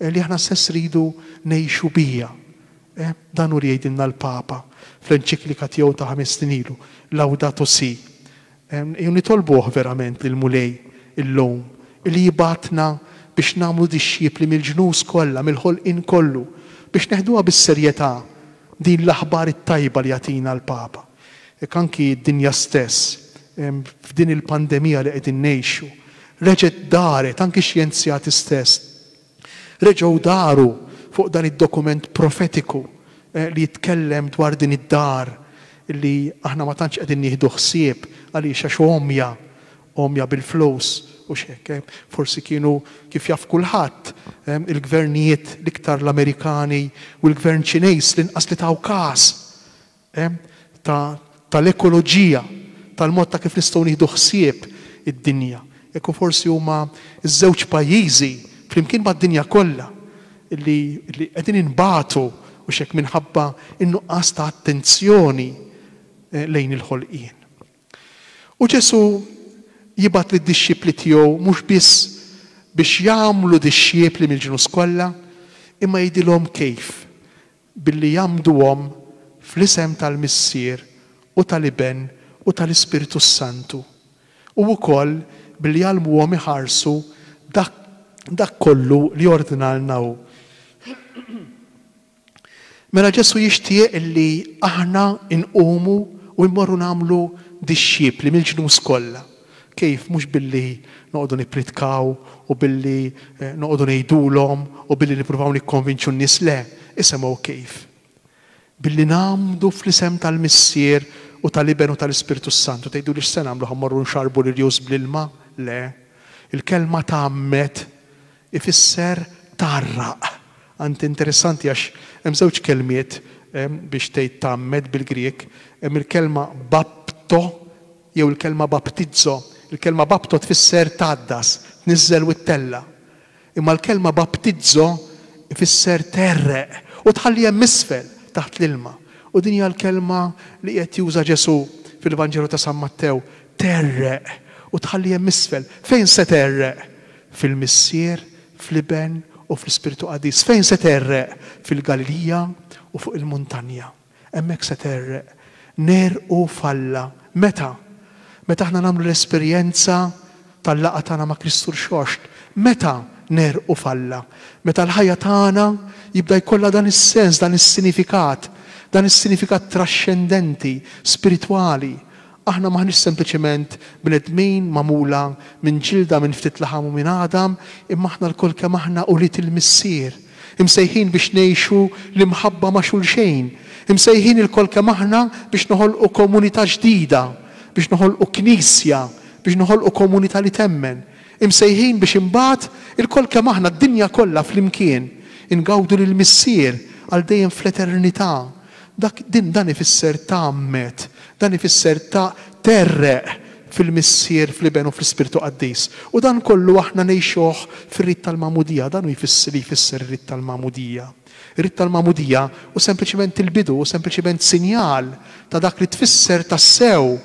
li aħna stess ridu ngħixu bija. Dan hu li jgħidilna l-Papa fl-enċiklika tiegħu ta' ħames snin ilu, Laudato Si. Ejjew nitolbuh verament lill-Mulej illum li jibgħatna biex nagħmlu dixxipli mill-ġnus kollha, mill-ħolqien kollu, biex neħduha bis-serjetà din l-aħbar it-tajba li jagħtina l-Papa. Jekk anki d-dinja stess f'din il-pandemija li qegħdin ngħixu. Reġgħet daret anki xjenzjati stess. Reġgħu daru fuq dan id-dokument profetiku li jitkellem dwar din id-dar li aħna ma tantx qegħdin nieħdu ħsieb għaliex għax għomja, għomja bil-flus u x'hekk. Forsi kienu kif jaf kulħadd il-gvernijiet l-iktar l-Amerikani u l-gvern Ċineż l-inqas li taw każ tal-ekoloġija, tal-mod ta' kif nistgħu nieħdu ħsieb id-dinja. Ekku forsi huma ż-żewġ pajjiżi flimkien mad-dinja kollha li qegħdin inbatu u x'hekk minħabba in-nuqqas ta' attenzjoni lejn il-ħolqien. U Ġesù jibgħat lid-dixxipli tiegħu mhux biss biex jagħmlu dixxipli mill-ġnus kollha, imma jgħidilhom kif billi jgħammduhom fl-isem tal-Missier u tal-Iben u tal-Ispirtu Santu. U wkoll billi jgħallmuhom iħarsu dak, dak kollu li ordnalna hu. Mela Ġesù jixtieq illi aħna nqumu u mmorru nagħmlu dixxipli mill-ġnus kollha. Kif? Mhux billi noqogħdu nippritkaw u billi noqogħdu ngħidulhom u billi nippruvaw nikkonvinċu n-nies, le, isimgħu kif. Billi nagħmdu fl-isem tal-Missier u tal-Iben u tal-Ispirtu Santu. Tgħidu li x'se nagħmlu, ħa mmorru nxarbu l-irjus bl-ilma? Le. Il-kelma tgħammed ifisser tgħarraq. Għand interessanti għax hemm żewġ kelmiet biex tgħid tgħammed bil-Grieg, hemm il-kelma bapto jew il-kelma baptizzo. Il-kelma bapto tfisser tgħaddas, tniżżel u ttella. Imma l-kelma baptizzo ifisser terreq u tħalli hemm isfel taħt l-ilma. U din hija l-kelma li qed juża Ġesù fil-Vanġelu ta' San Mattew, terreq u tħalli hemm isfel. Fejn se terreq? Fil-Missier, fl-Iben u fl-Ispirtu Qaddis. Fejn se terreq? Fil-Galilija u fuq il-muntanja. Hemmhekk se terreq. Nerqu falla. Meta? Meta aħna nagħmlu l-esperjenza tal-laqgħa tagħna ma' Kristu Rxoxt. Meta nerqu falla? Meta l-ħajja tagħna jibda jkollha dan is-sens, dan is-sinifikat, dan is-sinifikat trascendenti, spiritwali. Aħna maħniex sempliċement bnedmin magħmula minn ġilda, minn ftit laħam u minn għadam, imma aħna lkoll kemm aħna ulied il-Missier, imsejħin biex ngħixu l-imħabba ma' xulxejn, imsejħin ilkoll kemm aħna biex noħolqu komunità ġdida, biex noħolqu knisja, biex noħolqu komunità li temmen, imsejħin biex imbagħad ilkoll kemm aħna d-dinja kollha flimkien ingawdu lill-Missier għal dejjem fl-eternità. Dak din dan ifisser tgħammed, dan ifisser ta' terreq fil-Missier, fl-Iben u fl-Ispirtu Qaddis. U dan kollu aħna ngħixuh fir-rit tal-Magħmudija, dan hu jfisser li jfisser ir-rit tal-Magħmudija. Ir-rit tal-Magħmudija hu sempliċement il-bidu, hu sempliċement sinjal ta' dak li tfisser tassew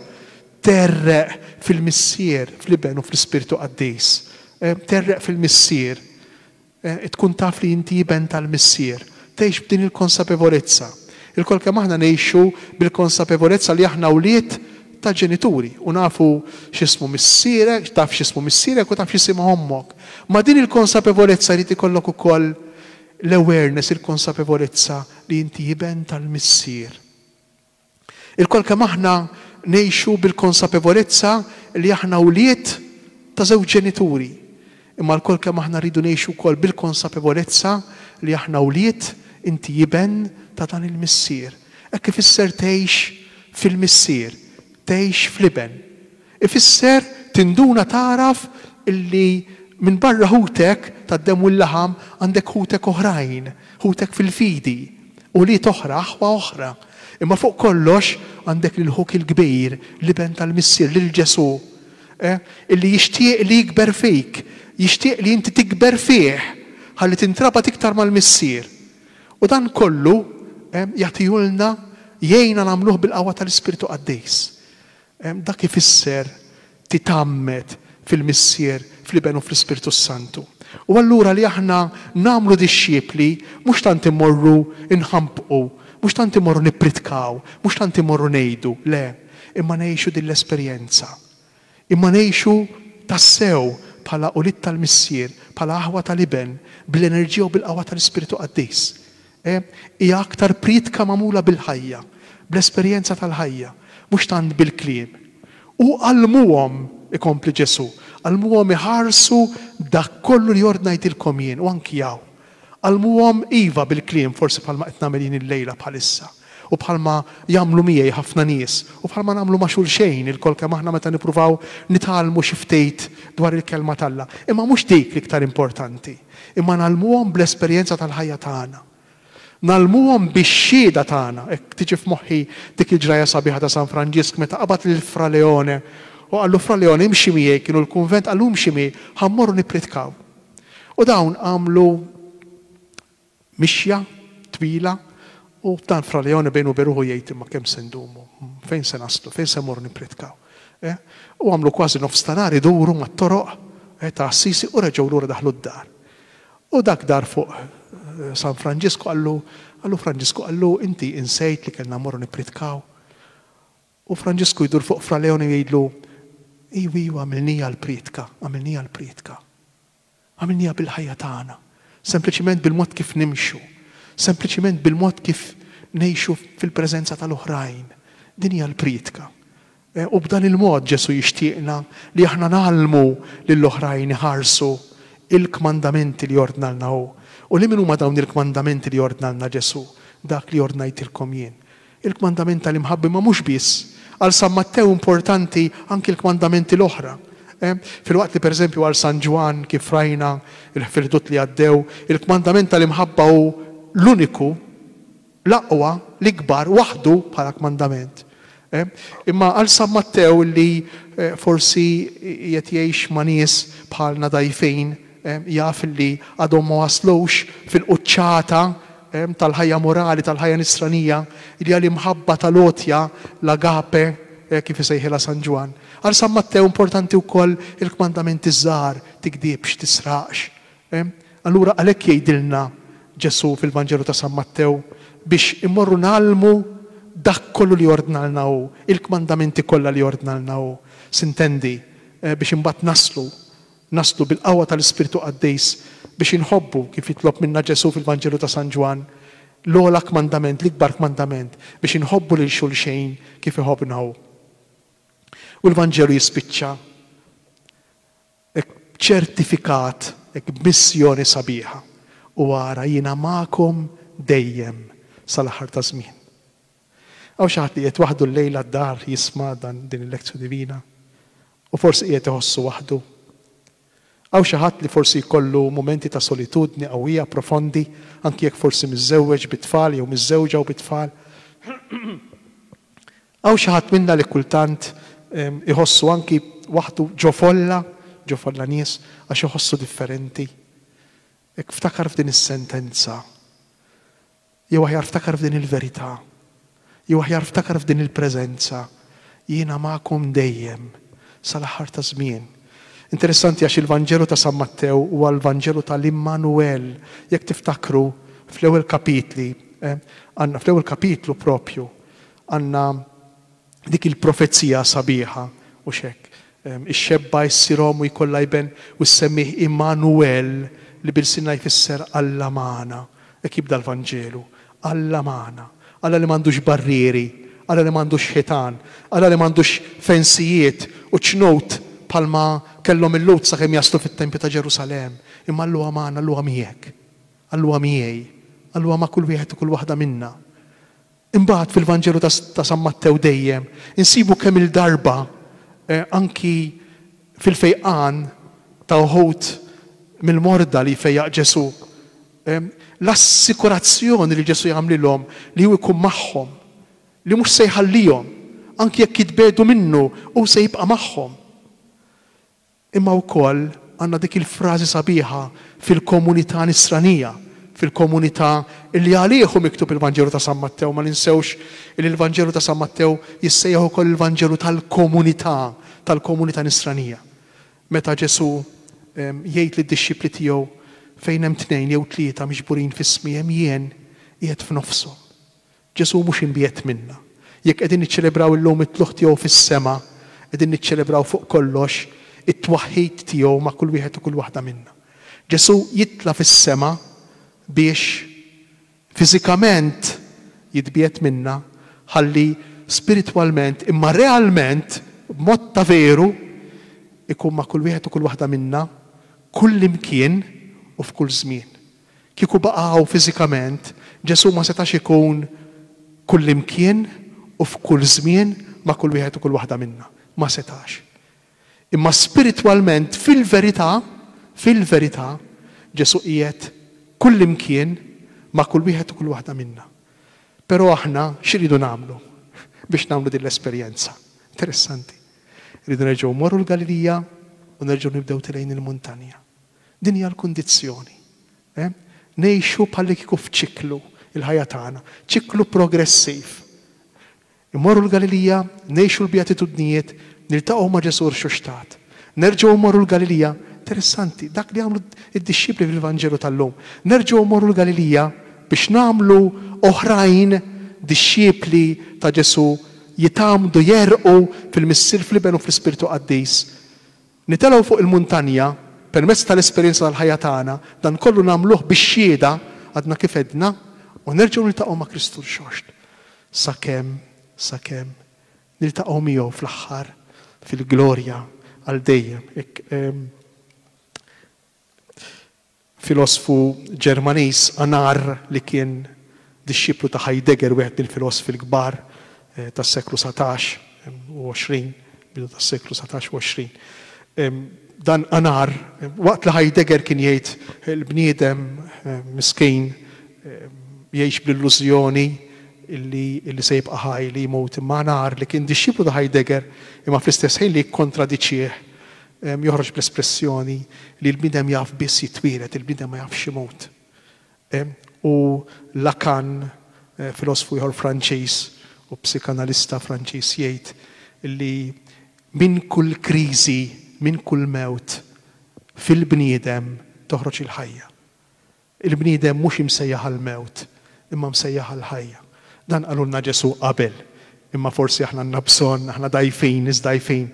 terreq fil-Missier, fl-Iben u fl-Ispirtu Qaddis. Terreq fil-Missier, tkun taf li inti iben tal-Missier, tgħix b'din il-konsapevolezza. Il-kol kemm aħna ngħixu bil-konsapevolezza li aħna wlied ta' ġenituri u nafu x'ismu missierek, taf x'ismu missierek u taf x'ismu ommok. Ma din il-konsapevolezza jrid ikollok ukoll l-awareness, il-konsapevolezza li inti iben tal-Missier. Il-kol kemm aħna ngħixu bil-konsapevolezza li aħna wlied ta' żewġ ġenituri. Imma l-kol kemm aħna rridu ngħixu wkoll bil-konsapevolezza li aħna wlied, inti iben ta' dan il-Missier. Hekk ifisser tgħix fil-Missier, tgħix fl-Iben. Ifisser tinduna tagħraf illi minn barra ħutek tad-demm u l-laħam għandek ħutek oħrajn, ħutek fil-fidi, ulied oħra, aħwa oħra. Imma fuq kollox għandek lil ħuk il-kbir, l-Iben tal-Missier, lil Ġesù, eh, illi jixtieq li jikber fik, jixtieq li inti tikber fih, ħalli tintrabat iktar mal-Missier. U dan kollu, eh, jagħtihulna, jgħinna nagħmluh bil-qawwa tal-Ispirtu Qaddis. Eh, dak ifisser titgħammed fil-Missier, fl-Iben u fl-Ispirtu Santu. U allura li aħna nagħmlu dixxipli mhux tant immorru nħampqu, mhux tant immorru nippritkaw, mhux tant immorru ngħidu, le, imma ngħixu din l-esperjenza. Imma ngħixu tassew bħala ulied tal-Missier, bħala aħwa tal-Iben, bl-enerġija u bil-qawwa tal-Ispirtu Qaddis. Eh, hija aktar pritka magħmula bil-ħajja, bl-esperjenza tal-ħajja, mhux tant bil-kliem. U għallmuhom, ikompli Ġesù, għallmuhom iħarsu dak kollu li ordnajtilkom jien, u anki hawn. Għallmuhom iva bil-kliem, forsi bħalma qed nagħmel jien illejla bħalissa. U bħalma jagħmlu miegħi ħafna nies, u bħalma nagħmlu ma' xulxejn ilkoll kemm aħna meta nippruvaw nitgħallmu xi ftit dwar il-kelma t'Alla. Imma mhux dik l-iktar importanti. Imma ngħallmuhom bl-esperjenza tal-ħajja tagħna. Ngħallmuhom bix-xhieda tagħna. Hekk tiġi f'moħħi dik il-ġrajja sabiħa ta' San Franġisk meta qabad lil Fra Leone u qallu Fra Leone imxi miegħi, kienu l-kunvent, qallu imxi miegħi, ħa mmorru nippritkaw. U dawn għamlu mixja twila u dan Fra Leone bejnu beruħu jgħid imma kemm se ndumu, fejn se naslu, fejn se mmorru nippritkaw. Eh? U għamlu kważi nofs ta' nhar iduru mat-toroq eh, ta' Assisi u reġgħu lura daħlu d-dar. U dak dar fuq eh, San Franġisku qallu, qallu Franġisku qallu inti insejt li kellna mmorru nippritkaw. U Franġisku jdur fuq Fra Leone jgħidlu, iwi, iwa, għamilnija l-pritka, għamilnija l-pritka. Għamilnija bil-ħajja tagħna, sempliċiment bil-mod kif nimxu, sempliċiment bil-mod kif ngħixu fil-preżenza tal-oħrajn. Din hija l-pritka. Eh, u b'dan il-mod Ġesù jixtieqna li aħna ngħallmu lill-oħrajn iħarsu il-kmandamenti li ordnalna hu. U li min huma dawn il-kmandamenti li ordnalna Ġesù? Dak li ordnajtilkom jien. Il-kmandament tal-imħabba ma mhux biss. Għal San Mattew importanti anki l-kmandamenti l-oħra. Eh, filwaqt li pereżempju għal San Ġwann kif rajna il-ħfirdut li għaddew, il-kmandament tal-imħabba hu l-uniku, l-aqwa, l-ikbar, waħdu bħala kmandament. Eh, imma għal San Mattew li, eh, forsi qed jgħix ma' nies bħalna dajfin, eh, jaf li għadhom ma waslux fil-quċċata, eh, tal-ħajja morali, tal-ħajja nisranija, li għal imħabba tal-għotja, l-agape, eh, kif isejħilha San Ġwann. Għal San Mattew importanti wkoll il-kmandamenti żgħar, tikdibx, tisraqx. Eh, allura għalhekk jgħidilna Ġesù fil-Vanġelu ta' San Mattew biex immorru ngħallmu dak kollu li ordnalna hu, il-kmandamenti kollha li ordnalna hu. Sintendi, eh, biex imbagħad naslu, naslu bil-qawwa tal-Ispirtu Qaddis biex inħobbu kif jitlob minna Ġesù fil-Vanġelu ta' San Ġwann, l-ogħla kmandament, l-ikbar kmandament, biex inħobbu lil xulxejn kif iħobbna hu. U l-Vanġelu jispiċċa hekk ċertifikat, hekk b'missjoni sabiħa. U ara jiena magħkom dejjem sal-aħħar ta' żmien. Hawn xi ħadd li qiegħed waħdu llejla d-dar jisma' dan din il-lezzjoni divina u forsi qiegħed iħossu waħdu. Hawn xi ħadd li forsi jkollu momenti ta' solitudni qawwija, profondi, anki jekk forsi miżżewweġ bit-tfal jew miżżewġa u bit-tfal. Hawn xi ħadd minna li kultant, em, iħossu anki waħdu ġo folla, ġo folla nies, għax iħossu differenti. Hekk ftakar f'din is-sentenza. Jew aħjar ftakar f'din il-verità. Jew aħjar ftakar f'din il-preżenza. Jiena magħkom dejjem sal-aħħar ta' żmien. Interessanti għax il-Vanġelu ta' San Mattew huwa l-Vanġelu tal-Immanuel. Jekk tiftakru fl-ewwel kapitli, eh, għandna fl-ewwel kapitlu propju, għandna dik il-profezija sabiħa u xek. Em, ix-xebba issir omm u jkollha iben u ssemmih Immanuel li bil-sinna jfisser Alla magħna. Hekk jibda l-Vanġelu. Alla magħna. Alla li m'għandux barrieri, Alla li m'għandux ħitan, Alla li m'għandux fensijiet u ċnut palma kellhom il-Lhud sakemm jaslu fit-tempju ta' Ġerusalemm. Imma Alla huwa magħna, Alla huwa miegħek. Alla huwa miegħi. Alla huwa ma' kull wieħed u kull waħda minna. Imbagħad fil-Vanġelu ta', ta' San Mattew dejjem insibu kemm il-darba, eh, anki fil-fejqan ta' uħud mill-morda li fejjaq Ġesù. Em, l-assikurazzjoni li Ġesù jagħmlilhom li hu jkun magħhom, li mhux se jħallihom, anki jekk jitbedu minnu, hu se jibqa' magħhom. Imma wkoll għandna dik il-frażi sabiħa fil-komunità nisranija, fil-komunità li għalih hu miktub il-Vanġelu ta' San Mattew. Ma ninsewx li l-Vanġelu ta' San Mattew jissejjaħ ukoll il-Vanġelu tal-komunità, tal-komunità nisranija. Meta Ġesù, em, jgħid lid-dixxipli tiegħu fejn hemm tnejn jew tlieta miġburin f'ismi hemm jien qiegħed f'nofshom. Ġesù mhux imbiegħed minna. Jekk qegħdin niċċelebraw illum it-tlugħ tiegħu fis-sema, qegħdin niċċelebraw fuq kollox it-twaħħid tiegħu ma' kull wieħed u kull waħda minna. Ġesù jitla' fis-sema biex fiżikament jitbiegħed minna, ħalli spiritwalment imma realment b'mod ta' veru ikun ma' kull wieħed u kull waħda minna, kull imkien u f'kull żmien. Kieku baqgħu fiżikament, Ġesù ma setax ikun kull imkien u f'kull żmien ma' kull wieħed u kull waħda minna. Ma setax. Imma spiritwalment, fil-verità, fil-verità, Ġesù qiegħed kull imkien ma' kull wieħed u kull waħda minna. Però aħna x'iridu nagħmlu biex nagħmlu din l-esperjenza? Interessanti. Rridu nerġgħu mmorru l-Galilija u nerġgħu nibdew tilejn il-muntanja. Din hija l-kundizzjoni. Eh? Ngħixu bħalli kieku f'ċiklu il-ħajja tagħna, ċiklu progressiv. Immorru l-Galilija, ngħixu l-beatitudnijiet, niltaqgħu ma' Ġesù rxuxtat. Nerġgħu mmorru l-Galilija, interessanti, dak li għamlu id-dixxipli fil-Vanġelu tal-lum. Nerġgħu mmorru l-Galilija biex nagħmlu oħrajn dixxipli ta' Ġesù jitgħammdu jerqu fil-Missier, fl-Iben u fl-Ispirtu Qaddis. Nitelgħu fuq il-muntanja permezz tal-esperjenza tal-ħajja tagħna, dan kollu nagħmluh bix-xhieda għadna kif għedna, u nerġgħu niltaqgħu ma' Kristu rxoxt. Sakemm, sakemm niltaqgħu miegħu fl-aħħar fil-glorja għal dejjem. Hekk, ehm, filosfu Ġermaniż Anar li kien dixxiplu ta' Heidegger, wieħed mill-filosfi l-kbar, eh, tas-seklu satax u għoxrin, bidu tas-seklu satax u għoxrin. Ehm, dan Anar, waqt li Heidegger kien jgħid il-bniedem, eh, miskin, eh, jgħix bl-illużjoni illi, illi se jibqa' ħaj li jmut, imma Anar li kien dixxiplu ta' Heidegger imma fl-istess ħin li kkontradiċih, em, joħroġ bl-espressjoni li l-bniedem jaf biss jitwieled, il-bniedem ma jafx imut. Em, u Lacan, eh, filosfu ieħor Franċiż u psikanalista Franċiż, jgħid li minn kull kriżi, minn kull mewt fil-bniedem toħroġ il-ħajja. Il-bniedem mhux imsejjaħ għall-mewt, imma msejjaħ għall-ħajja. Dan qalulna Ġesù qabel, imma forsi aħna għandna bżonn, aħna dajfin, nies dajfin.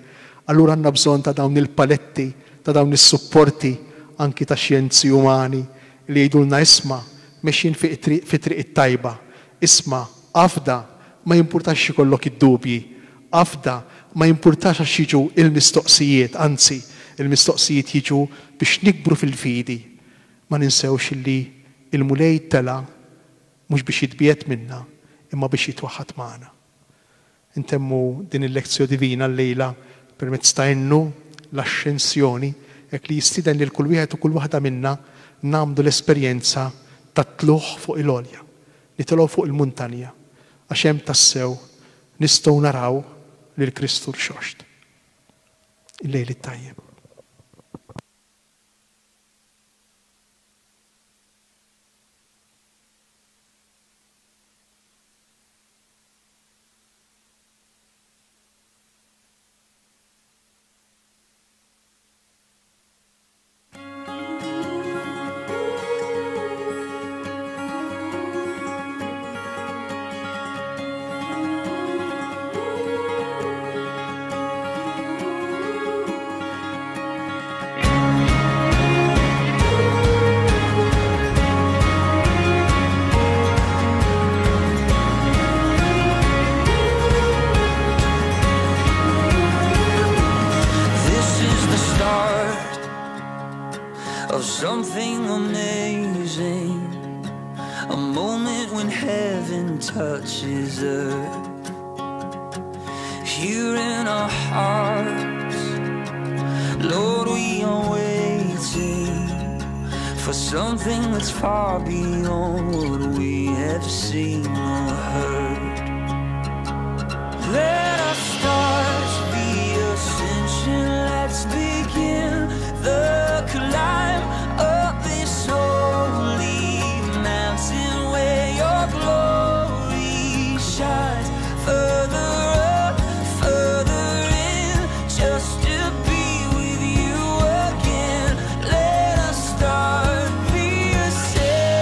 Allura għandna bżonn ta' dawn il-paletti, ta' dawn is-supporti anki ta' xjenzi umani li jgħidulna isma' mexjin fi triq, fi triq it-tajba. Isma', afda, ma jimpurtax ikollok id-dubji. Afda, ma jimpurtax għax jiġu il-mistoqsijiet, anzi, il-mistoqsijiet jiġu biex nikbru fil-fidi. Ma ninsewx illi il-Mulej tela' mhux biex jitbiegħed minna, imma biex jitwaħħad magħna. Intemmu din il-lezzjoni divina llejla permezz ta' innu l-Ascensjoni, hekk li jistieden lil kull wieħed u kull waħda minna nagħmlu l-esperjenza ta' tlugħ fuq il-għolja, nitilgħu fuq il-muntanja, għax hemm tassew nistgħu naraw lil Kristu rxoxt. Il-lejl it-tajjeb. Something amazing, a moment when heaven touches earth. Here in our hearts, Lord, we are waiting for something that's far beyond what we have seen or heard. Let us start the ascension, let's begin the climb up this holy mountain where your glory shines. Further up, further in, just to be with you again. Let us start the ascension.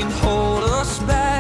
can hold us back.